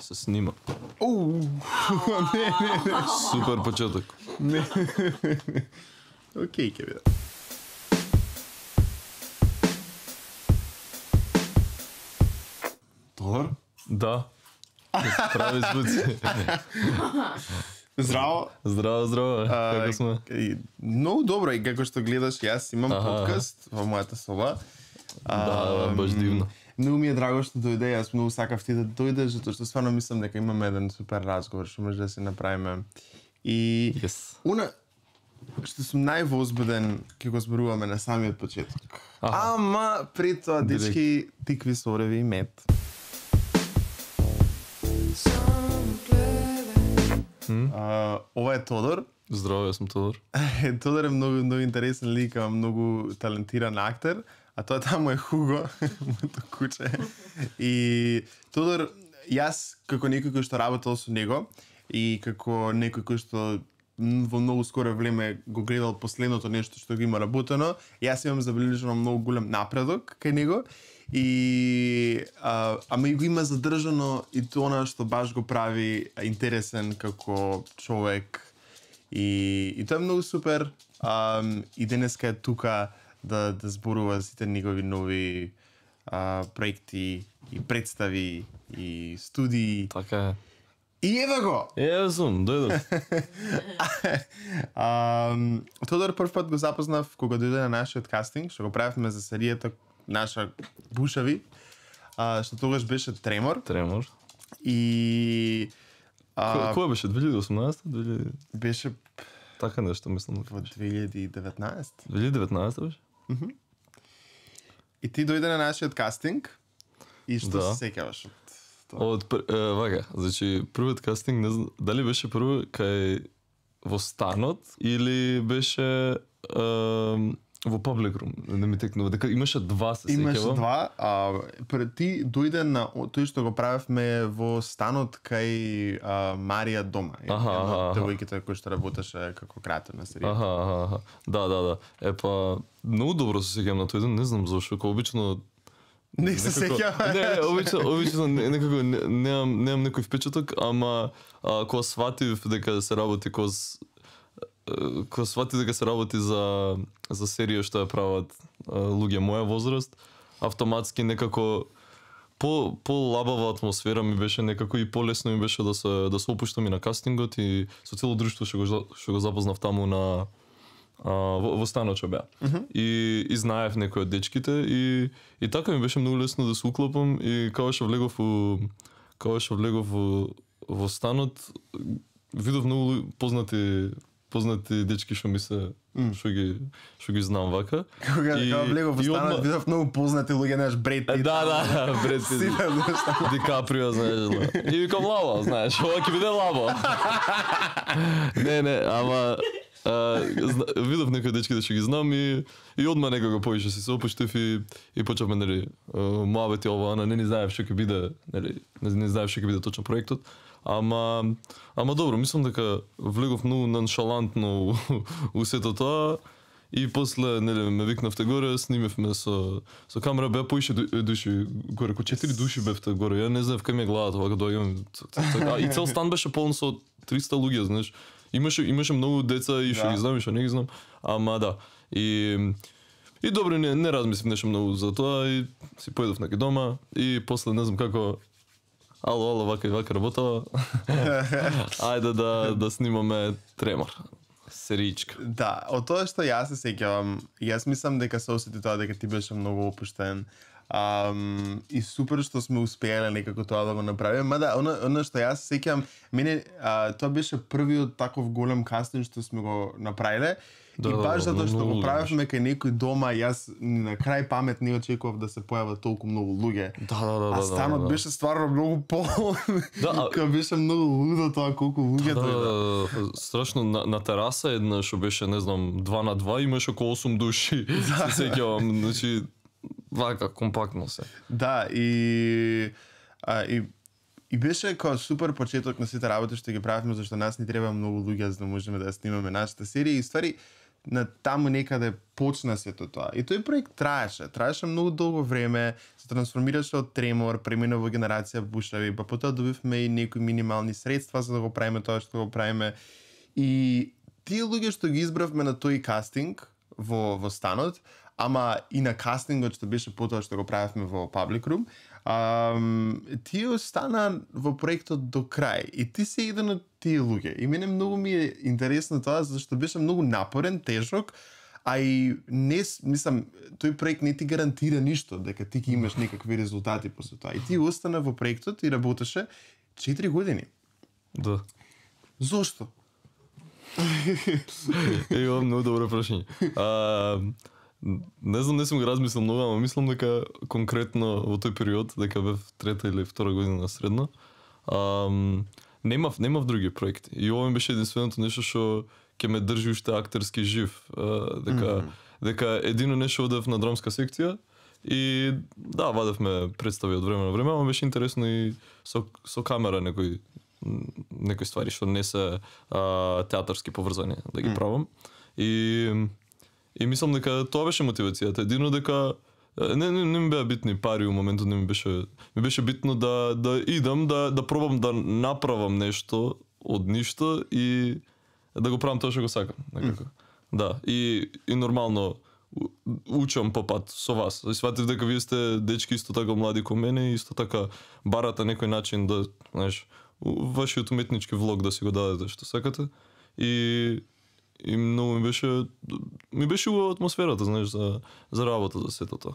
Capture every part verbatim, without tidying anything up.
се снима. Оу. Не, не, не. Супер почеток. Не. Океј, ќе биде. Тодор? Да. Прави звуци. Здраво. Здраво, здраво. Како сме? И, многу добро, и како што гледаш, јас имам Аха. подкаст во мојата соба. Да, баш дивно. Многу ми е драго што дојде, јас многу сакав ти да дојдеш, затоа што стварно мислам дека имаме еден супер разговор што може да се направиме. И Yes. уна што сум највозбуден ќе го зборуваме на самиот почеток. Аха. Ама пред тоа, Директ. дечки, тикви, сореви и мед. А, ова е Тодор. Здраво, јас сум Тодор. Тодор е многу, многу интересен лик, а многу талентиран актер, а тоа таму е Хуго, моето куче. И Тодор, јас како некој кој што работел со него и како некој кој што м, во многу скоро време го гледал последното нешто што го има работено, јас имам забележано многу голем напредок кај него и а, ама и го има задржано и тоа што баш го прави интересен како човек. И, и тоа е многу супер. Um, и денеска е тука да, да зборува сите негови нови а, проекти и представи и студии. Така е. И ева го! Е, сум, дојдов. um, Тодор прв пат го запознав кога дојде на нашиот кастинг, што го правевме за серијата наша Бушави, а, што тогаш беше Тремор. Тремор. И Кој а, кој беше две илјади и осумнаесета? две илјади беше Така нешто мислам. во две илјади и деветнаесета. две илјади и деветнаесета беше? И ти дојде на нашиот кастинг и што Да. се сеќаваш од тоа? Од пр- е, вака, значи првиот кастинг не знам дали беше прво кај во станот или беше е, во Public Room. Не ми текнува дека имаше два, се Имаше сеќавам. два, а пред ти дојде на о- тој што го правевме во станот кај а, Марија дома. Аха, една аха, од аха. девојките кој што работеше како креатор на серија. Аха, аха, аха. Да, да, да. Е па многу добро се сеќавам на тој ден, не знам зошто, кога обично Не се некако- сеќаваш. Не, не, обично, обично не- некако не- немам немам некој впечаток, ама а, кога сватив дека се работи коз е, кога сватив дека се работи за за серија што ја прават а, луѓе моја возраст, автоматски некако по по лабава атмосфера ми беше, некако и полесно ми беше да се да се опуштам и на кастингот и со цело друштво што го за- што го запознав таму на а, во, во станот што беа. И и знаев некои од дечките и и така ми беше многу лесно да се уклопам и кога што влегов у кога што влегов во во станот видов многу лу- познати познати дечки што ми се што ги што ги знам вака. Кога И- кога влегов во и станот, одма- видов многу познати луѓе, знаеш, Бред Е, Пит. да, да, Бред Пит. Сите нешта. Ди Каприо, знаеш, да. И викам лаба, знаеш, ова ќе биде лаба. Не, не, ама а, зна- видов некои дечки да ќе ги знам и и одма некако повише си се опуштив и и почнавме нели муабети ова ана, не ни знаев што ќе биде, нели, не, не знаев што ќе биде точно проектот. Ама ама добро, мислам дека влегов многу ноншалантно у, у сето тоа. И после, нели, ме викнавте горе, снимевме со со камера, беа поише ду- души горе, ко четири души бевте горе. Ја не знаев кај ми е главата, вака доаѓам. ц- ц- ц- А и цел стан беше полн со триста луѓе, знаеш. Имаше имаше многу деца и што Да. ги знам и што не ги знам. Ама да. И и добро, не не размислив нешто многу за тоа и си поедов неки дома и после не знам како ало, ало, вака и вака работава. Ајде да да снимаме Тремор. Серичка. Да, од тоа што јас се сеќавам, јас мислам дека се осети тоа дека ти беше многу опуштен. Um, и супер што сме успеале некако тоа да го направиме. Мада, оно, оно што јас се сеќавам, мене а, тоа беше првиот таков голем кастинг што сме го направиле. Да, и да, баш да, затоа што многу го луѓе правевме кај некој дома, јас на крај памет не очекував да се појават толку многу луѓе. Да, да, да, А да, станот да, да. беше стварно многу полн. Да, а- Кога беше многу лудо тоа колку луѓе Да, дојде. да, да, страшно на, на тераса една што беше, не знам, два на два, имаше околу осум души. Се сеќавам, значи вака компактно се. Да, и а, и и беше како супер почеток на сите работи што ги правевме, зашто нас ни треба многу луѓе за да можеме да ја снимаме нашата серија и ствари на таму некаде почна сето тоа. И тој проект траеше, траеше многу долго време, се трансформираше од тремор, премина во генерација бушави, па потоа добивме и некои минимални средства за да го правиме тоа што го правиме. И тие луѓе што ги избравме на тој кастинг во во станот, ама и на кастингот што беше потоа што го правевме во Public Room, Um, тие остана во проектот до крај и ти си еден од тие луѓе. И мене многу ми е интересно тоа зашто беше многу напорен, тежок, а и не, мислам, тој проект не ти гарантира ништо дека ти ќе имаш некакви резултати после тоа. И ти остана во проектот и работеше четири години. Да. Зошто? Е, имам многу добро прашање. А, не знам, не сум го размислил многу, ама мислам дека конкретно во тој период, дека бев трета или втора година на средно, ам, немав, немав други проекти. И ова ми беше единственото нешто што ќе ме држи уште актерски жив. А, дека, mm -hmm. дека едино нешто одев на драмска секција и да, вадевме представи од време на време, ама беше интересно и со, со камера некои некои ствари што не се а, театарски поврзани да ги правам. И и мислам дека тоа беше мотивацијата. Едино дека не не, не ми беа битни пари во моментот, не ми беше ми беше битно да да идам да да пробам да направам нешто од ништо и да го правам тоа што го сакам, некако. Mm. Да, и и нормално учам по пат со вас. И сватив дека вие сте дечки исто така млади како мене и исто така барате некој начин да, знаеш, вашиот уметнички влог да си го дадете што сакате. И и многу ми беше ми беше убава атмосферата, знаеш, за за работа, за сето тоа.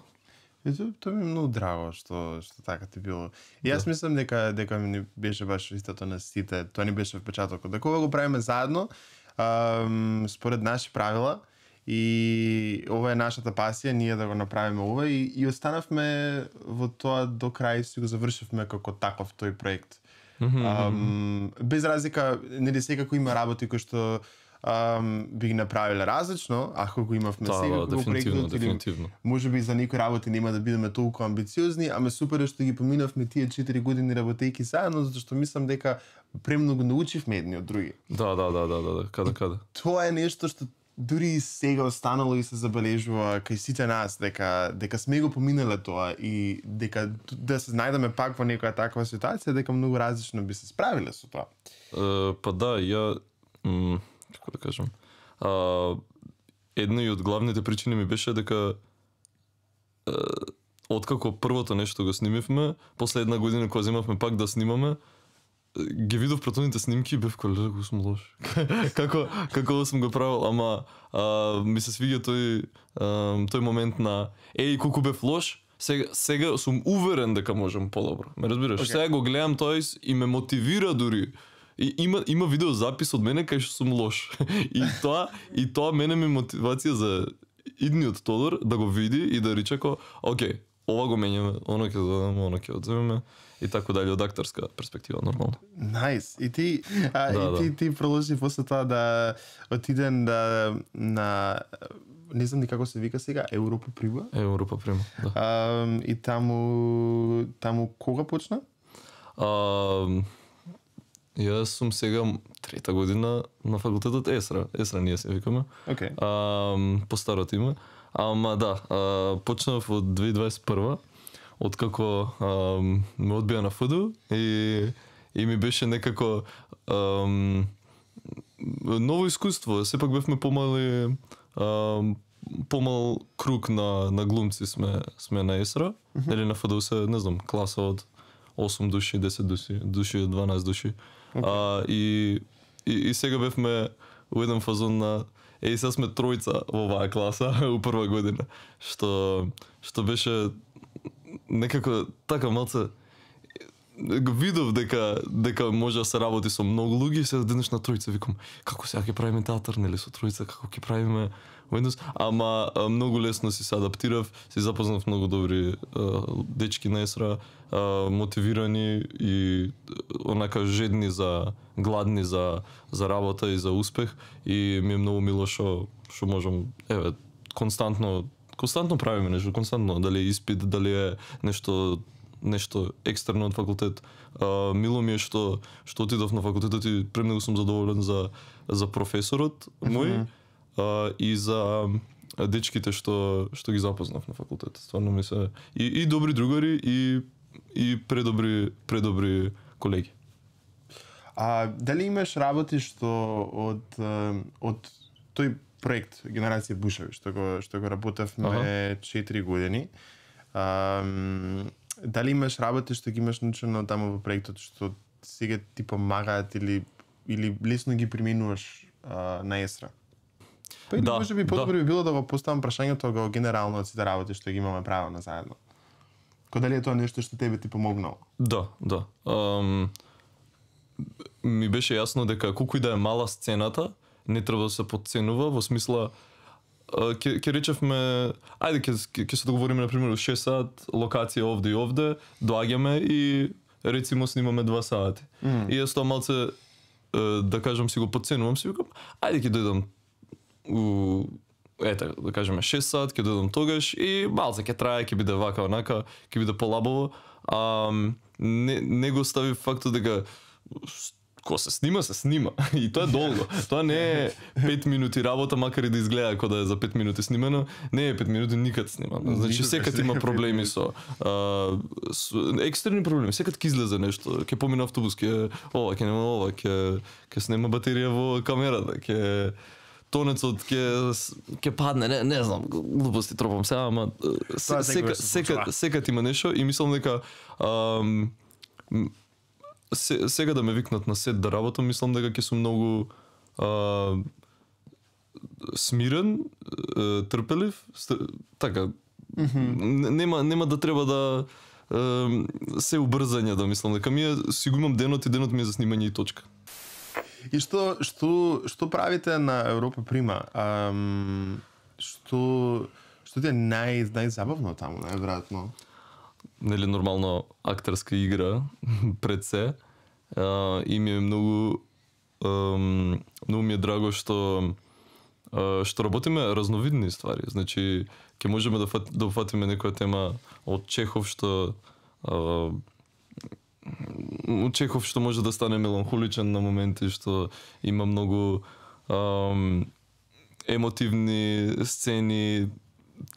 И тоа, тоа ми е многу драго што што така ти било. И јас да. Мислам дека дека ми беше баш истото на сите. Тоа ни беше впечатокот. Дека ова го правиме заедно, ам, според наши правила. И ова е нашата пасија, ние да го направиме ова и, и останавме во тоа до крај, си го завршивме како таков тој проект. Mm -hmm. ам, без разлика, нели секако има работи кои што Um, би ги направиле различно, ако го имавме да, сега да, го проектот, дефинитивно. Може би за некои работи нема да бидеме толку амбициозни, ама супер е што ги поминавме тие четири години работејќи заедно, затоа што мислам дека премногу научивме едни од други. Да, да, да, да, да, каде каде. Тоа е нешто што дури и сега останало и се забележува кај сите нас, дека дека сме го поминале тоа и дека да се најдеме пак во некоја таква ситуација, дека многу различно би се справиле со тоа. Uh, па да, ја како да кажам, а, една и од главните причини ми беше дека а, откако првото нешто го снимивме, после една година кога земавме пак да снимаме, ги видов претходните снимки и бев кој како сум лош. како како сум го правил, ама а, ми се свиѓа тој а, тој момент на еј колку бев лош, сега сега сум уверен дека можам подобро. Ме разбираш? Okay. Сега го гледам тој и ме мотивира дури. И има има видеозапис од мене кај што сум лош. И тоа и тоа мене ми мотивација за идниот Тодор да го види и да рече ко, окей, ова го менјаме, оно ќе додадеме, оно ќе одземеме и така дали од актерска перспектива нормално. Најс. Nice. И ти а, да, и ти да. ти продолжи после тоа да отиден да на не знам ни како се вика сега, Европа Прима. Европа Прима, да. А, и таму таму кога почна? А, Јас сум сега трета година на факултетот Есра. Есра ние се викаме. Okay. А, по старото име. Ама да, а, почнав од две илјади дваесет и прва, откако а, ме одбија на ФДУ и и ми беше некако а, ново искуство. Сепак бевме помали а, помал круг на на глумци сме сме на Есра, mm -hmm. или на ФДУ се, не знам, класа од осум души, десет души, души дванаесет души. Okay. А, и, и, и сега бевме у еден фазон на еј сега сме тројца во оваа класа у прва година, што што беше некако така малце го видов дека дека може да се работи со многу луѓе и сега денеш на тројца викам како сега ќе правиме театар, нели со тројца, како ќе правиме Windows, ама а, многу лесно си се адаптирав, си запознав многу добри а, дечки на Есра, а, мотивирани и онака жедни за гладни за за работа и за успех и ми е многу мило што што можам еве константно константно правиме нешто, константно, дали е испит, дали е нешто нешто екстерно од факултет. А, мило ми е што што отидов на факултетот и премногу сум задоволен за за професорот мој. Mm -hmm. а, и за дечките што што ги запознав на факултетот. Стварно ми се и, и добри другари и и предобри предобри колеги. А дали имаш работи што од од тој проект Генерација Бушеви што го што го работевме ага. четири години? А, дали имаш работи што ги имаш научено таму во проектот што сега ти помагаат или или лесно ги применуваш а, на естра? Па или да, може би подобро да. би било да го поставам прашањето го генерално од сите работи што ги имаме право на заедно. Ко дали е тоа нешто што тебе ти помогнало? Да, да. Um, ми беше јасно дека колку и да е мала сцената, не треба да се подценува во смисла ќе ќе речевме, ајде ќе ќе се договориме на пример шест сат, локација овде и овде, доаѓаме и рецимо снимаме два сати. Mm. И јас тоа малце да кажам си го подценувам, си викам, ајде ќе дојдам у ете, да кажеме шест сат, ќе дојдам тогаш и малце ќе трае, ќе биде вака онака, ќе биде полабаво. А не не го стави фактот дека ко се снима, се снима. И тоа е долго. Тоа не е пет минути работа, макар и да изгледа како да е за пет минути снимано. Не е пет минути никад снимано. Значи секад има проблеми со, а, со екстерни проблеми. Секад ќе излезе нешто, ќе помине автобус, ќе ова, ќе нема ова, ќе ќе снема батерија во камерата, ќе тонецот ќе ќе падне, не не знам, глупости тропам сега, ама секад секад секад има нешто и мислам дека ам, Се, сега да ме викнат на сет да работам, мислам дека ќе сум многу а, смирен, а, трпелив, стр... така. Mm-hmm. Нема нема да треба да а, се убрзање да мислам дека ми е, си го имам денот и денот ми е за снимање и точка. И што што што правите на Европа Прима? Ам, што што ти е нај најзабавно таму, најверојатно? Нели нормално актерска игра пред се. Uh, и ми е многу um, многу ми е драго што uh, што работиме разновидни ствари. Значи ќе можеме да фат, да фатиме некоја тема од Чехов што uh, од Чехов што може да стане меланхоличен на моменти, што има многу um, емотивни сцени,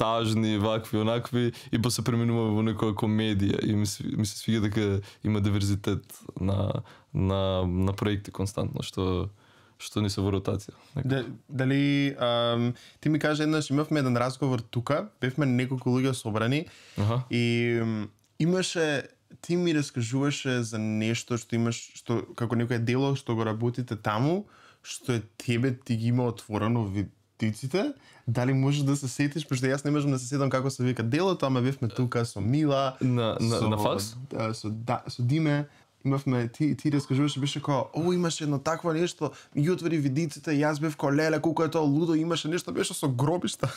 тажни, вакви, онакви, и па се преминува во некоја комедија и ми се, ми се свиѓа дека има диверзитет на на на проекти константно што што ни се во ротација. Да, дали ам, ти ми кажа еднаш имавме еден разговор тука, бевме неколку луѓе собрани ага. и м, имаше ти ми раскажуваше за нешто што имаш што како некој дело што го работите таму, што е тебе ти ги има отворено видиците. Дали можеш да се сетиш, пошто јас не можам да се сетам како се вика делото, ама бевме тука со Мила, на на, со, на факс, со да, со Диме, имавме ти ти раскажуваше беше како, о, имаше едно такво нешто, ми ги отвори видиците, јас бев ко леле, колку е тоа лудо, имаше нешто беше со гробишта.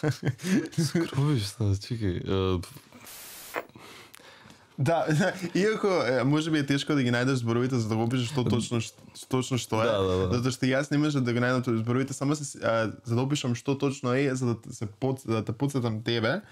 Со гробишта, чекај. Uh... Да, иако може би е тешко да ги најдеш зборовите за да го опишеш што точно точно што е. Да, да, да. Затоа што јас не можам да го најдам зборовите, само се а, за да опишам што точно е, за да се под да те потсетам тебе.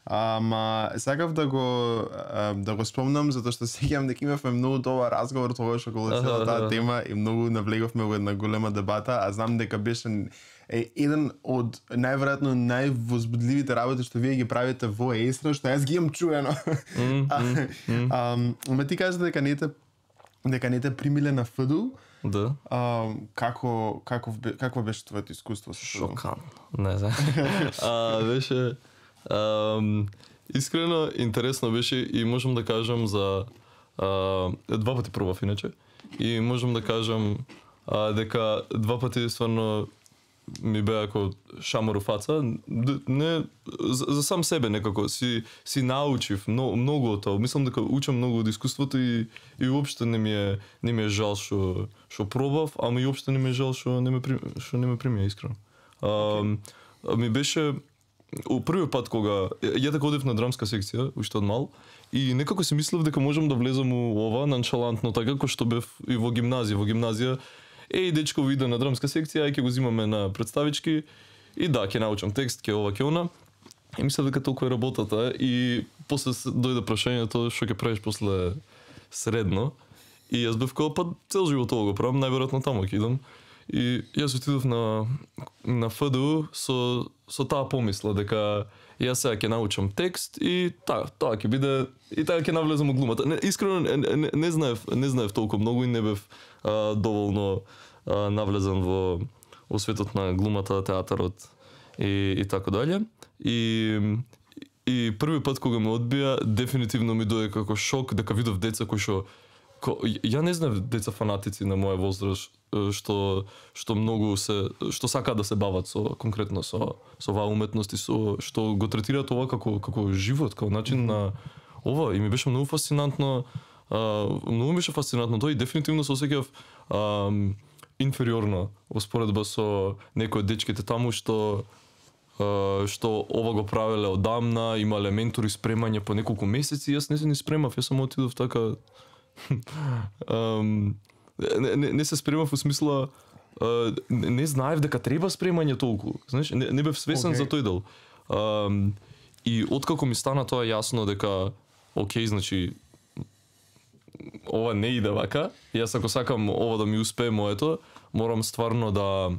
Ама сакав да го а, да го спомнам затоа што сеќавам дека имавме многу добар разговор тогаш околу цела таа тема и многу навлеговме во една голема дебата, а знам дека беше е еден од најверојатно највозбудливите работи што вие ги правите во Естра, што јас ги имам чуено. Mm, mm, mm. Ама ти кажа дека не те дека не те примиле на ФДУ. Да. А, како како какво беше твоето искуство со ФДУ? Шокантно. Не знам. а беше Um, искрено интересно беше и можам да кажам за uh, два пати пробав иначе и можам да кажам uh, дека два пати стварно ми беа како шамор у фаца, не за, за сам себе некако си си научив но, многу од тоа. Мислам дека учам многу од искуството и и уопште не ми е не ми е жал што што пробав, ама и уопште не ми е жал што не ме што не ме примија искрено. Um, okay. Ми беше у првиот пат кога ја така одев на драмска секција уште од мал и некако си мислев дека можам да влезам у ова ноншалантно така како што бев и во гимназија, во гимназија еј дечко иде на драмска секција, ај ќе го зимаме на представички и да, ќе научам текст, ќе ова, ќе она. И мислев дека толку е работата и после дојде прашањето што ќе правиш после средно и јас бев како па цел живот ова го правам, најверојатно таму ќе идам. И јас отидов на на Ф Д У со со таа помисла дека јас сега ќе научам текст и та, тоа ќе биде и така ќе навлезам во глумата. Не, искрено не, не, не знаев, не знаев толку многу и не бев а, доволно а, навлезан во во светот на глумата, театарот и и така дале. И и први пат кога ме одбија, дефинитивно ми дојде како шок дека видов деца кои што ко, ја не знам деца фанатици на моја возраст што што многу се што сакаат да се бават со конкретно со со оваа уметност и со што го третираат ова како како живот, како начин на ова и ми беше многу фасцинантно, а, многу беше фасцинантно тоа и дефинитивно се осеќав инфериорно во споредба со некои од дечките таму што Uh, што ова го правеле одамна, имале ментори спремање по неколку месеци, јас не се ни спремав, јас само отидов така um, не, не, не се спремав во смисла uh, не, не знаев дека треба спремање толку, знаеш, не, не бев свесен okay. за тој дел. Um, и откако ми стана тоа јасно дека окей, значи ова не иде вака, јас ако сакам ова да ми успее моето, морам стварно да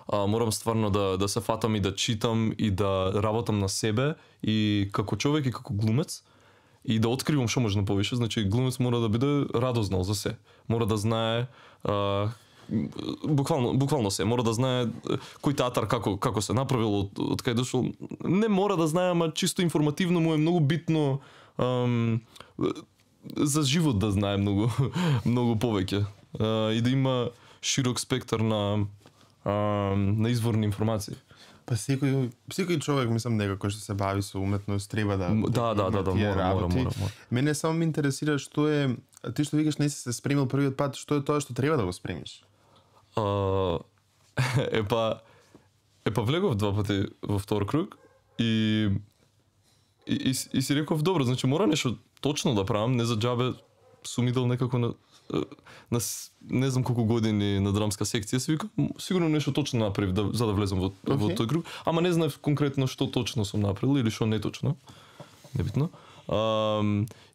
А, морам стварно да да се фатам и да читам и да работам на себе и како човек и како глумец и да откривам што може повеќе. Значи глумец мора да биде радознал за се. Мора да знае а, буквално буквално се, мора да знае кој театар како како се направил, од, од кај дошол. Не мора да знае, ама чисто информативно му е многу битно ам, за живот да знае многу многу повеќе. А, и да има широк спектар на Uh, на изворни информации. Па секој секој човек мислам некако што се бави со уметност треба да да да да, да мора, мора, мора, мора. Мене само ме интересира што е ти што викаш не си се спремил првиот пат, што е тоа што треба да го спремиш? Uh, епа епа влегов два пати во втор круг и и, и, и си реков добро, значи мора нешто точно да правам, не за џабе сум идел некако на на не знам колку години на драмска секција, се викам сигурно нешто точно направив да, за да влезам во, okay. во тој круг, ама не знаев конкретно што точно сум направил или што неточно. Небитно. А,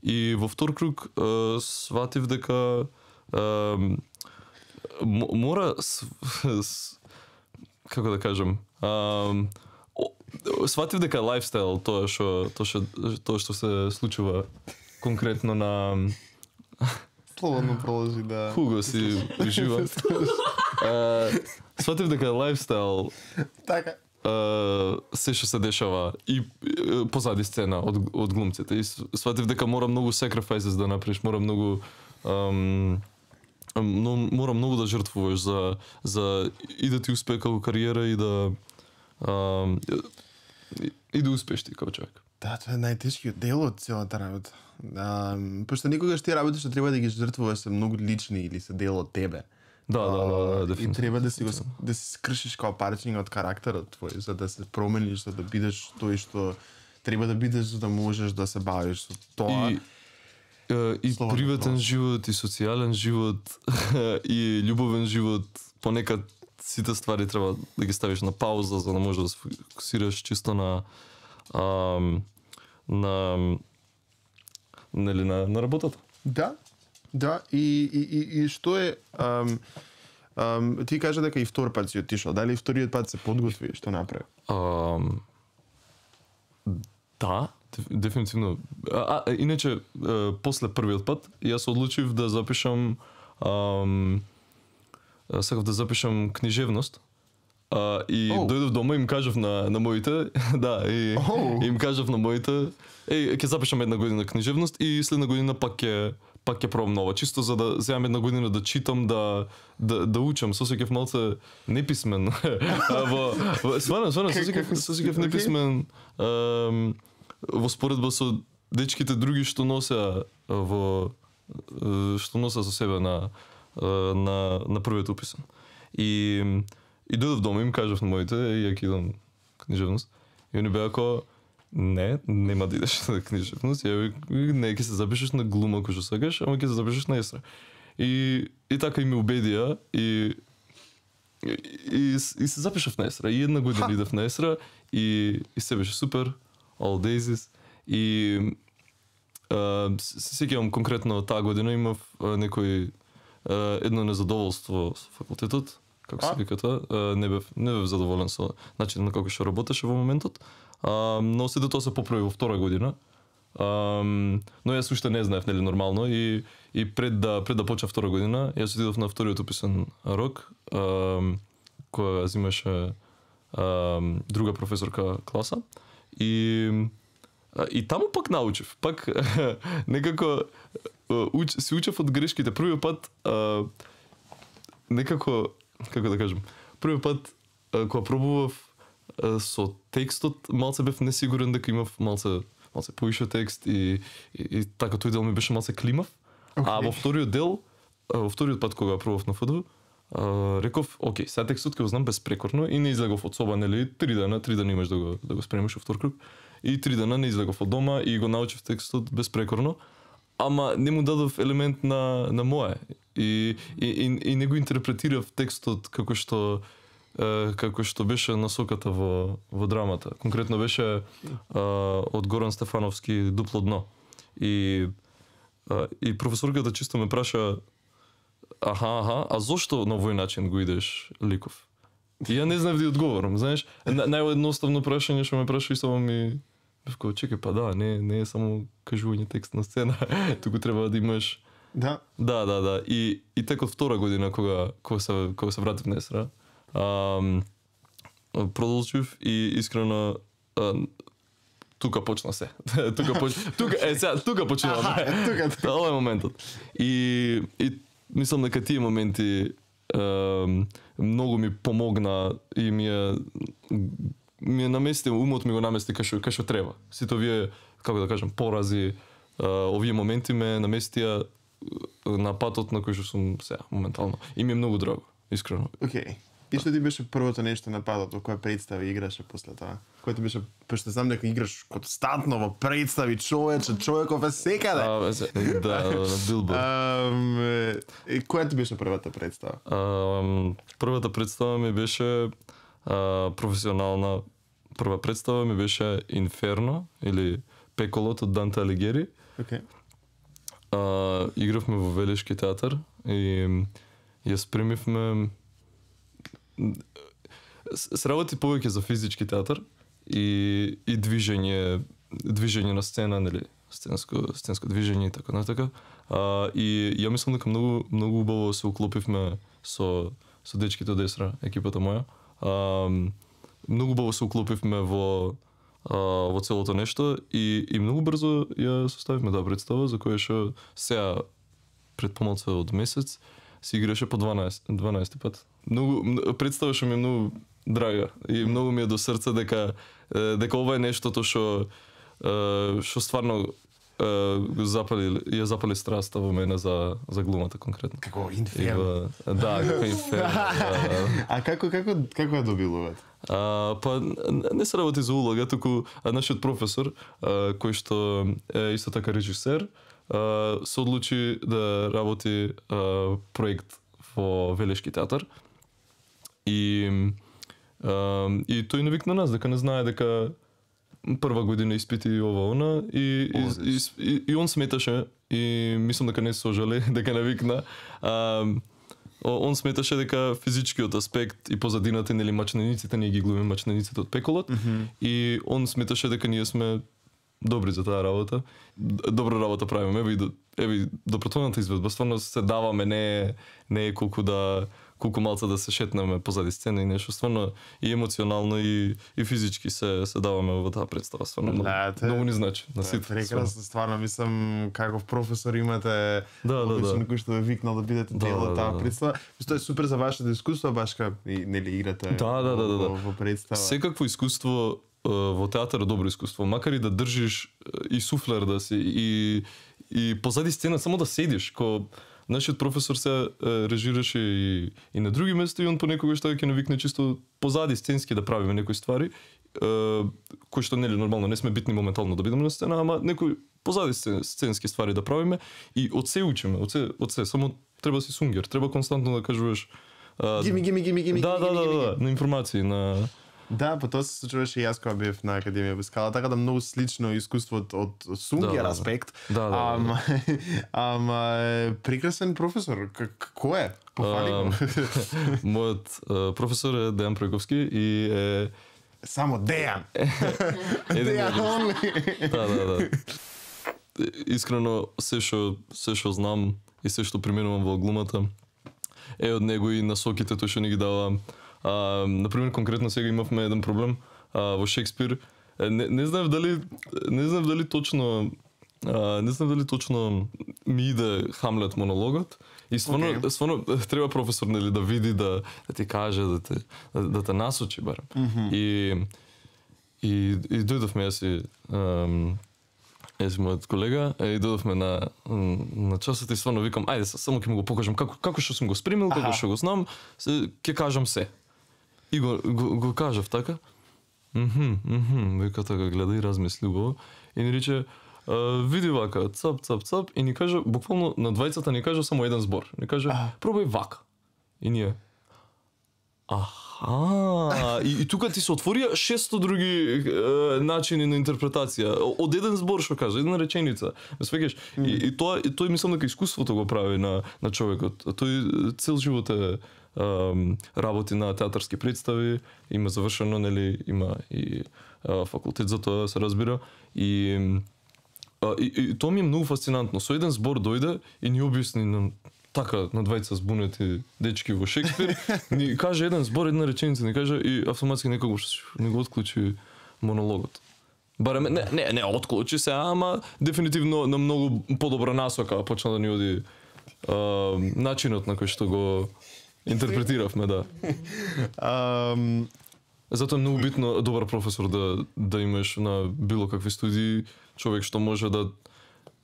и во втор круг а, сватив дека а, мора с, с, како да кажам, а, сватив дека лајфстайл тоа што тоа што тоа што се случува конкретно на Слободно проложи да. Хуго си ужива. Сватив дека лајфстайл така Uh, се што се дешава и uh, позади сцена од, од глумците и сватив дека мора многу sacrifices да направиш, мора многу um, но, мора многу да жртвуваш за, за и да ти успее како кариера и да um, и, и да успееш ти како човек. Да, тоа е најтешкиот дел од целата работа. А, пошто некогаш тие работи што треба да ги жртвуваш се многу лични или се дел од тебе. Да, да, да, да, дефинитивно. И треба да си го да си скршиш као парчиња од карактерот твој, за да се промениш, за да бидеш тој што треба да бидеш, за да можеш да се бавиш со тоа. И, uh, и приватен живот, и социјален живот, и љубовен живот, понекад сите ствари треба да ги ставиш на пауза, за да можеш да се фокусираш чисто на um, на нели на, на работата. Да. Да, и, и, и, и што е... Ам, ам, ти кажа дека и втор пат си отишол. Дали вториот пат се подготви? Што направи? Um, да, дефинитивно. А, а иначе, а, после првиот пат, јас одлучив да запишам... Ам, сакав да запишам книжевност. А, и oh. дојдов дома и им кажав на, на моите... да, и oh. им кажав на моите... Еј, ќе запишам една година книжевност и следна година пак ќе пак ќе пробам нова, чисто за да земам една година да читам, да да да учам, со сеќав малце неписмен. во сварно, сварно со сеќав со сеќав неписмен um, во споредба со дечките други што носеа во што носеа со себе на на на првиот уписен. И и дојдов дома и им кажав на моите, ја кидам книжевност. И они беа како не, нема да идеш на книжевност, ја не, ќе се запишеш на глума кој што сакаш, ама ќе се запишеш на естра. И и така и ме убедија и и, и, и се запишав на естра. И една година идев на естра и и се беше супер, all days. И а, се сеќавам конкретно таа година имав а, некои едно незадоволство со факултетот, како се вика тоа, не бев не бев задоволен со начинот на како што работеше во моментот. А, но сите тоа се поправи во втора година. Um, но јас уште не знаев нели нормално и и пред да пред да почна втора година јас отидов на вториот уписен рок um, која земаше um, друга професорка класа и и таму пак научив пак некако уч, си учев од грешките првиот пат uh, некако како да кажам првиот пат uh, кога пробував uh, со текстот малце бев несигурен дека имав малце малце поише текст и, и, и така тој дел ми беше малце климав. Okay. А во вториот дел, во вториот пат кога пробав на ФДУ, реков, окей, сега текстот ќе го знам безпрекорно и не излегов од соба, нели, три дена, три дена имаш да го да го спремиш во втор круг. И три дена не излегов од дома и го научив текстот безпрекорно, ама не му дадов елемент на на мое. И и и, и не го интерпретирав текстот како што како што беше насоката во во драмата. Конкретно беше а, од Горан Стефановски Дупло дно. И а, и професорката чисто ме праша аха, аха, а зошто на овој начин го идеш ликов? И ја не знам да ја одговорам, знаеш? На, наједноставно прашање што ме праша и само ми бевко, чекај, па да, не не е само кажување текст на сцена, туку треба да имаш. Да. Да, да, да. И и тек од втора година кога кога се кога се вратив на Есра, Um, продолжив и искрено uh, тука почна се. тука поч... тука е сега тука почнуваме. Тука. Ова е моментот. И и мислам дека тие моменти uh, многу ми помогна и ми е ми е намести умот ми го намести кај што кај што треба. Сите овие како да кажам порази uh, овие моменти ме наместија на патот на кој што сум сега моментално. И ми е многу драго, искрено. Окей. Okay. И што ти беше првото нешто на патот во која представи играше после тоа? Кој ти беше, пошто знам дека играш константно во представи, човече, човеков е секаде. А, да, на билборд. Um, која ти беше првата представа? Um, првата представа ми беше uh, професионална. Прва представа ми беше Инферно или Пеколот од Данте Алигери. Окей. Okay. Uh, игравме во Велешки театар и ја спремивме. Се работи повеќе за физички театар и и движење движење на сцена, нели, сценско сценско движење и така натака. А и ја мислам дека многу многу убаво се уклопивме со со дечките од Есра, екипата моја. А многу убаво се уклопивме во а, во целото нешто и и многу брзо ја составивме таа представа за која што сега пред помалку од месец си играше по дванаесет пат. Многу представа што ми е многу драга и многу ми е до срце дека дека ова е нештото што што стварно го запали ја запали страста во мене за за глумата конкретно. Како Инферно. Да, како Инферно. А како како како ја добилувате? А, па не се работи за улога, туку нашиот професор а, кој што е исто така режисер, а, се одлучи да работи а, проект во Велешки театар. И а, и тој не викна нас дека не знае дека прва година испити ова она и и, и, и, и он сметаше и мислам дека не се сожали дека не викна. А, он сметаше дека физичкиот аспект и позадината, нели, мачнаниците, ние ги глумиме мачнаниците од Пеколот, mm-hmm. и он сметаше дека ние сме добри за таа работа. Добра работа правиме, еви еви добротворната изведба, стварно се даваме, не не е колку да колку малце да се шетнеме позади сцена и нешто, стварно и емоционално и и физички се се даваме во таа представа, стварно многу, многу ни значи на сите. Прекрасно, стварно мислам каков професор имате, да, да, да. Кој што ве викнал да бидете дел од таа представа. Тоа е супер за вашето искуство, башка и нели играте да, да, да, да, да. во представа. Секакво искуство во театар е добро искуство, макар и да држиш и суфлер да си и и позади сцена само да седиш, ко нашиот професор се режираше и и на други места и он понекогаш така ќе навикне чисто позади сценски да правиме некои ствари, кои што нели нормално не сме битни моментално да бидеме на сцена, ама некои позади сценски ствари да правиме и од се учиме, од се од се само треба си сунгер, треба константно да кажуваш гими гими гими гими да, да, да, да, на информации, на Да, па тоа се случуваше и јас кога бев на Академија без скала, така да многу слично искуство од, од сунгер Да, да, да. аспект. Да, да, да, ама, ама е, прекрасен професор. К- кој е? Пофали го. Мојот а, професор е Дејан Пројковски и е Само Дејан. еден Дејан од- only. Да, да, да. Искрено, се што се што знам и се што применувам во глумата е од него и насоките тој што ни ги дава. А, например, конкретно сега имавме еден проблем а, во Шекспир. Е, Не, не знам дали не знам дали точно а, не знам дали точно ми иде Хамлет монологот. И стварно, Океј. стварно треба професор нели да види да да ти каже да те да, да те насочи барем. Мгм. И и и дојдовме јас и ам, Јас и мојот колега и дојдовме на на часот и стварно викам ајде са- само ќе му го покажам како како што сум го спремил, како Аха. што го знам, се ќе кажам се. И го го, го кажав така. Мхм, мхм, вика така гледа и размисли убаво и ни рече а, види вака, цап, цап, цап и ни кажа буквално на двајцата ни кажа само еден збор. Ни кажа А. пробај вака. И ние Аха, и, и тука ти се отворија шесто други е, начини на интерпретација. Од еден збор што кажа, една реченица. Ме свеќаш? И, и тоа и тој мислам дека искуството го прави на на човекот. Тој цел живот е ем, работи на театарски представи, има завршено, нели, има и е, факултет за тоа, се разбира. И а, и, и тоа ми е многу фасцинантно. Со еден збор дојде и ни објасни на така на двајца збунети дечки во Шекспир, ни каже еден збор, една реченица, ни каже и автоматски некогаш ни го отклучи монологот. Барем не не не отклучи се, ама дефинитивно на многу подобра насока почна да ни оди а, начинот на кој што го интерпретиравме, да. Ам, Затоа е многу битно добар професор да да имаш на било какви студии, човек што може да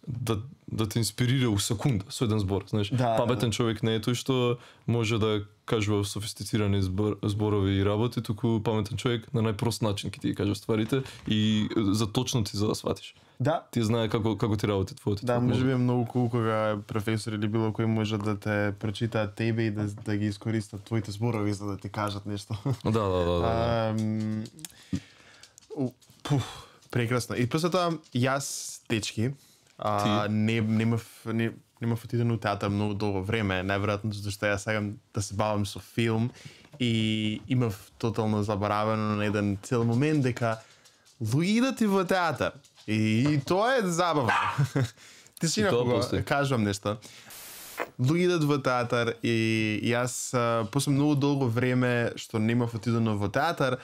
да да те инспирира у секунда со еден збор, знаеш. Да, Паметен да. човек не е тој што може да кажува софистицирани збор, зборови и работи, туку паметен човек на најпрост начин ќе ти ги каже стварите и за точно ти за да сватиш. да, Ти знае како како ти работи твоето. да, може би е многу кул кога професор или било кој може да те прочитаат тебе и да, да ги искористат твоите зборови за да ти кажат нешто. Да, да, да, да. да. Ам, у, пуф, прекрасно. И после тоа јас дечки, а, не немав не немав отидено у театар многу долго време, најверојатно затоа што јас сакам да се бавам со филм и имав тотално заборавено на еден цел момент дека луѓе идат и во театар. И, и тоа е забавно. Ти си И тоа кога постои. кажувам нешто. Луѓе идат во театар и јас а, после многу долго време што немав отидено во театар,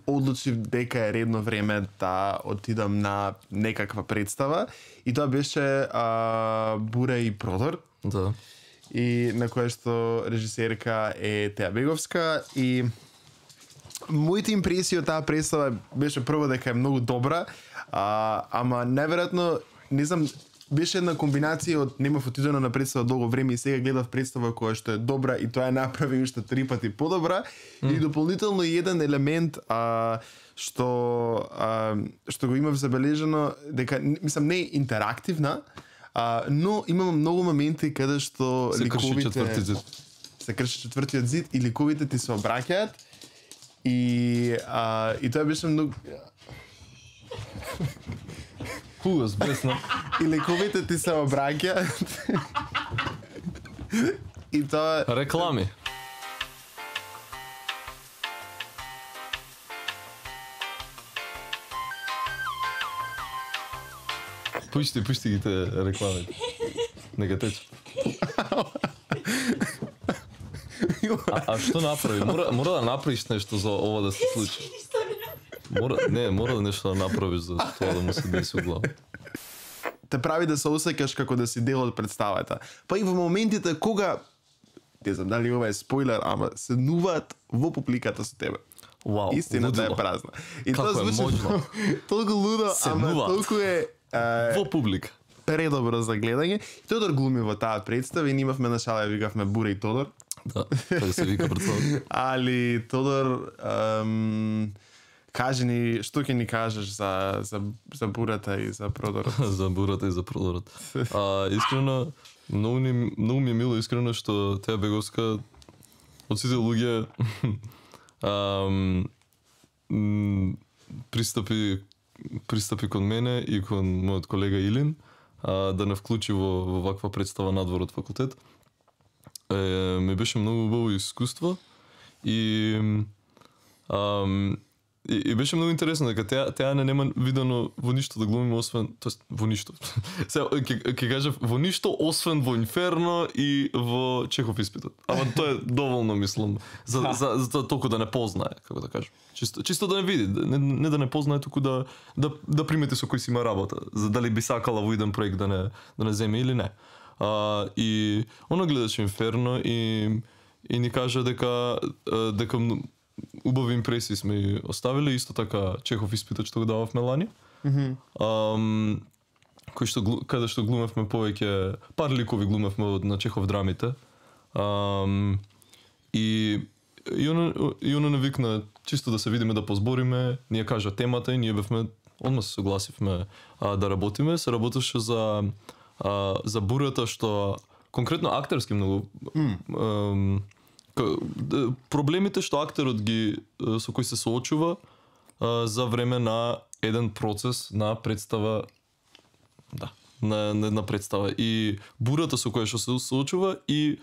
одлучив дека е редно време да отидам на некаква представа и тоа беше а, Бура и Продор Да. и на која што режисерка е Теја Беговска и моите импресии од таа представа беше прво дека е многу добра, а, ама неверојатно не знам беше една комбинација од немав отидено на представа долго време и сега гледав представа која што е добра и тоа е направи уште три пати подобра mm. и дополнително и еден елемент а, што а, што го имав забележано дека мислам не е интерактивна, а, но имам многу моменти каде што Се крши ликовите четврти зид. се крши четвртиот зид и ликовите ти се обраќаат и а, и тоа беше многу Хубаво, бесна. и ликовите ти се обраќаат и тоа Реклами. Пушти, пушти ги те рекламите. Нека тече. А, а што направи? Мора, мора да направиш нешто за ова да се случи. Мора, не, мора да нешто да направиш за тоа да му се деси у глава. те прави да се осеќаш како да си дел од представата. Па и во моментите кога не знам дали ова е спойлер, ама се нуваат во публиката со тебе. Вау, Истината е лудило. празна. И Како тоа е звучи можно? толку лудо, Се ама нуваат. толку е а, Во публика. предобро за гледање. Тодор глуми во таа представа и ние имавме на шала, викавме Бура и Тодор. Да, така се вика представа. Али Тодор ам, кажи ни што ќе ни кажеш за за за Бурата и за Продорот. За бурата и за продорот. А, искрено, многу, ни, многу ми е мило искрено што Теја Беговска од сите луѓе ам, м, пристапи пристапи кон мене и кон мојот колега Илин а, да не вклучи во, во ваква представа надвор од факултет. Е, ми беше многу убаво искуство и ам, И, и беше многу интересно дека теа теа не нема видено во ништо да глумиме освен, тоест во ништо. Сега ќе ќе кажав во ништо освен во Инферно и во Чехов испитот. Ама тоа е доволно мислам за за за тоа толку да не познае, како да кажам. Чисто чисто да не види, не, не да не познае, туку да да да примети со кој си има работа, за дали би сакала во еден проект да не да не земе или не. А, и она гледаше Инферно и и ни кажа дека дека убави импресии сме оставили, исто така Чехов испитот што го дававме лани. Мгм. Ам, кој што глу- каде што глумевме повеќе пар ликови глумевме од на Чехов драмите. Ам, и и она и она не викна чисто да се видиме, да позбориме, ние кажа темата и ние бевме одма се согласивме а, да работиме, се работеше за а, за бурата што конкретно актерски многу Mm. ам, Ка- д- проблемите што актерот ги е, со кои се соочува а, за време на еден процес на представа, да, на на една представа и бурата со која што се соочува и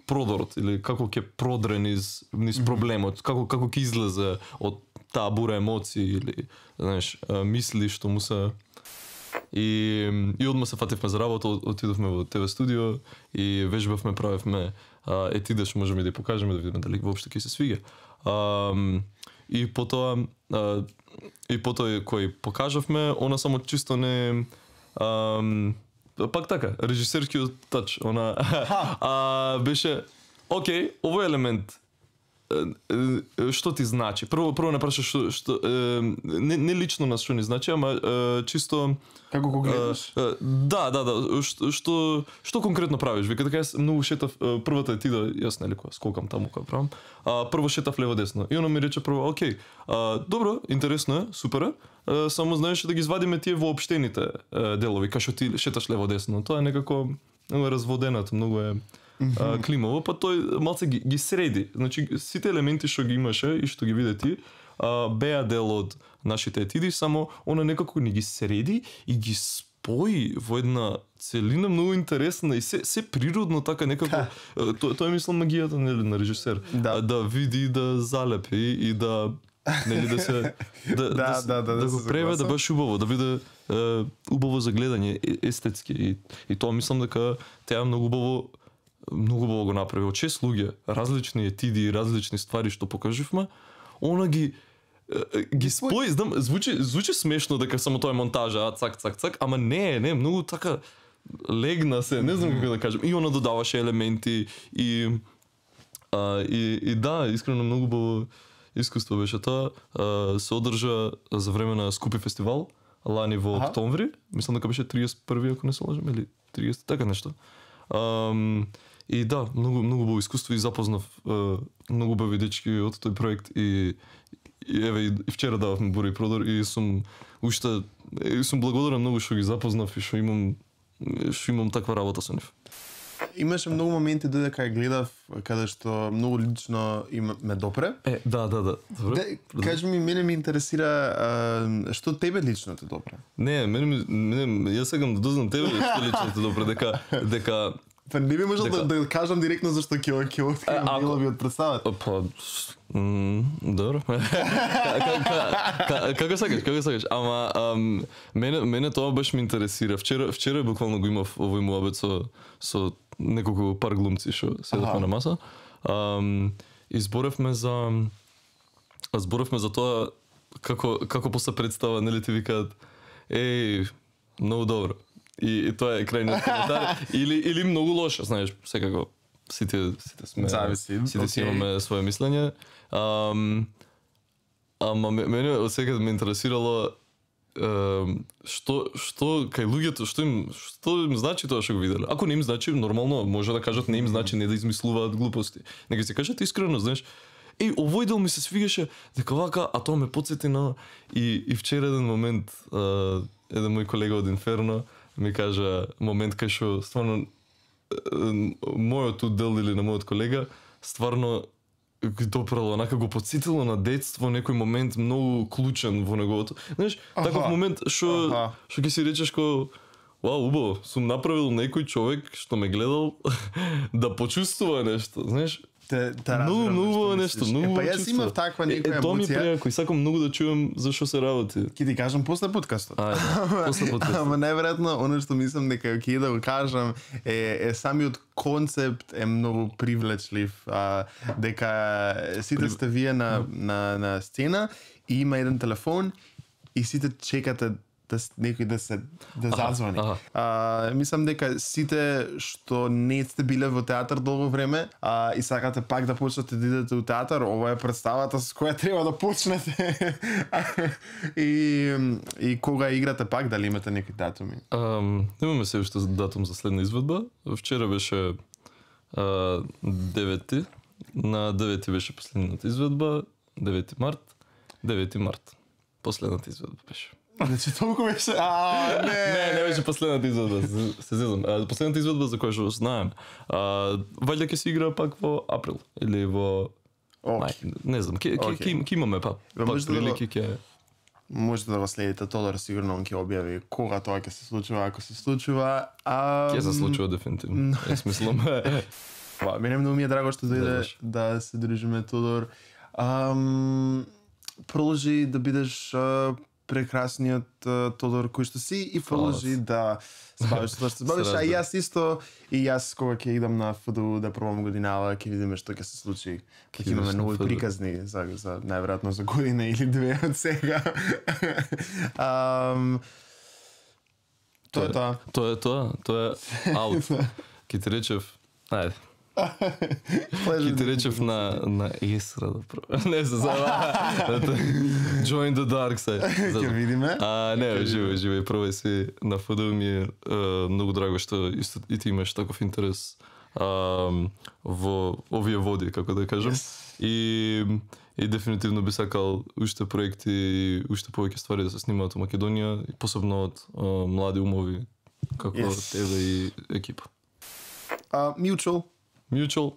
продорот или како ќе продре низ низ проблемот, како како ќе излезе од таа бура емоции или знаеш а, мисли што му се. И, и одма се фативме за работа, отидовме во ТВ студио и вежбавме, правевме а, етидеш, можеме да ја покажеме да видиме дали воопшто ќе се свиѓа. А, и потоа а, и потоа кој покажавме, она само чисто не а, пак така, режисерскиот тач, она а, беше окей, овој елемент што ти значи? Прво прво не прашаш што што е, не не лично на што ни значи, ама е, чисто Како го гледаш? е, да, да, да, што што што конкретно правиш? Вика така јас многу шетав е, првата е ти да јас нели кога скокам таму кога правам. А прво шетав лево десно. И она ми рече прво, окей, а, добро, интересно е, супер е. е, Само знаеш да ги извадиме тие воопштените е, делови, кај што ти шеташ лево десно. Тоа е некако многу е разводенато, многу е а, климово, па тој малце ги, ги среди. Значи сите елементи што ги имаше и што ги виде ти, а, беа дел од нашите етиди, само она некако ни ги среди и ги спои во една целина многу интересна и се се природно така некако. Тоа тоа е мислам магијата нели на режисер, Да. а, да види, да залепи и да нели да се да Да, да, да, да го се преведе согласам. баш убаво, да биде е, убаво за гледање, е- естетски и и тоа мислам дека теа многу убаво многу убаво го направи. Од шест луѓе, различни етиди, различни ствари што покаживме, она ги е, ги спои, знам, звучи звучи смешно дека само тоа е монтажа, а, цак цак цак, ама не, не, многу така легна се, не знам како да кажам. И она додаваше елементи и а, и и да, искрено многу убаво искуство беше тоа. А, се одржа за време на Скупи фестивал лани во Аха. октомври, мислам дека беше триесет и први ако не се лажам, или триесет така нешто. Ам, и да, многу многу убаво искуство и запознав е, многу убави дечки од тој проект и и еве и и вчера дававме бура и продор и сум уште и сум благодарен многу што ги запознав и што имам што имам таква работа со нив. Имаше многу моменти додека ја гледав каде што многу лично им ме допре. Е, да, да, да. Добро. Да, кажи ми, мене ми интересира а, што тебе лично те допре. Не, мене, ми- мене јас сакам да дознам тебе што лично те добро дека дека Па не би можел Дека- да, да кажам директно зашто ќе ќе А, откриам ако- делови од представата. па м, добро. Ка- ка- ка- ка- Како сакаш, како сакаш. Ама ам, мене мене тоа баш ме интересира. Вчера вчера буквално го имав овој муабет со со неколку пар глумци што седевме Аха. на маса. Ам, и зборевме за зборевме за тоа како како после представа нели ти викаат еј многу добро. И, и тоа е крајниот коментар или или многу лошо, знаеш, секако сите сите сме Зависи, сите си окей. имаме свое мислење. Ам, ама ме- мене од секад ме интересирало ем, што што кај луѓето што им што им значи тоа што го виделе. Ако не им значи, нормално може да кажат не им значи, не да измислуваат глупости. Нека се кажат искрено, знаеш. Еј, овој дел ми се свигаше дека вака, а тоа ме потсети на и и вчера еден момент а, еден мој колега од Инферно ми кажа момент кај што стварно е, мојот удел или на мојот колега стварно тоа прво онака го потсетило на детство, некој момент многу клучен во неговото. Знаеш, таков момент што што ќе си речеш ко вау, убаво, сум направил некој човек што ме гледал да почувствува нешто, знаеш? Те, те многу, многу нешто, многу. Е, па јас имав таква некоја емоција. Е, тоа ми преако и сакам многу да чуем за што се работи. Ќе ти кажам после подкастот. Ајде, после подкастот. Ама најверојатно оно што мислам дека ќе да го кажам е, е самиот концепт е многу привлечлив, а, дека сите Прив... сте вие на, на, на сцена и има еден телефон и сите чекате да некој да се да зазвани. Аха, аха. А, мислам дека сите што не сте биле во театар долго време, а и сакате пак да почнете да идете во театар, ова е представата со која треба да почнете. и и кога играте пак, дали имате некои датуми? Um, имаме се уште датум за следна изведба. Вчера беше uh, девети, на девети беше последната изведба, девети март, девети март. Последната изведба беше. Значи толку беше, а не. Не, не беше последната изведба, се зезам. Последната изведба за која што знаем. А, вајде ќе се игра пак во април или во мај, не знам, ќе ќе ќе имаме па. Пак прилики ќе можете да го следите, Тодор сигурно он ќе објави кога тоа ќе се случува, ако се случува. А ќе се случува дефинитивно. Јас мислам. Па, мене многу ми е драго што дојде да се дружиме, Тодор. Ам, продолжи да бидеш а, прекрасниот uh, Тодор кој што си и продолжи да се бавиш тоа што се бавиш, а јас исто и јас кога ќе идам на ФДУ да пробам годинава, ќе видиме што ќе се случи. Ќе имаме нови приказни за за најверојатно за година или две од сега. um, тоа е тоа. Тоа е тоа, тоа е аут. Ке ти речев, ајде. Ки ти речев на на Исра да про. Не се зава. Join the dark side. Ќе видиме. А не, живе, живе, пробај си на ФДУ ми е многу драго што исто и ти имаш таков интерес а, во овие води, како да кажам. Yes. И и дефинитивно би сакал уште проекти и уште повеќе ствари да се снимаат во Македонија, и посебно од а, млади умови како yes. тебе и екипа. А uh, Mutual Mutual.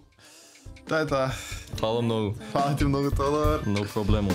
Тоа е тоа. Фала многу. Фала ти многу, Тодор. No проблемо.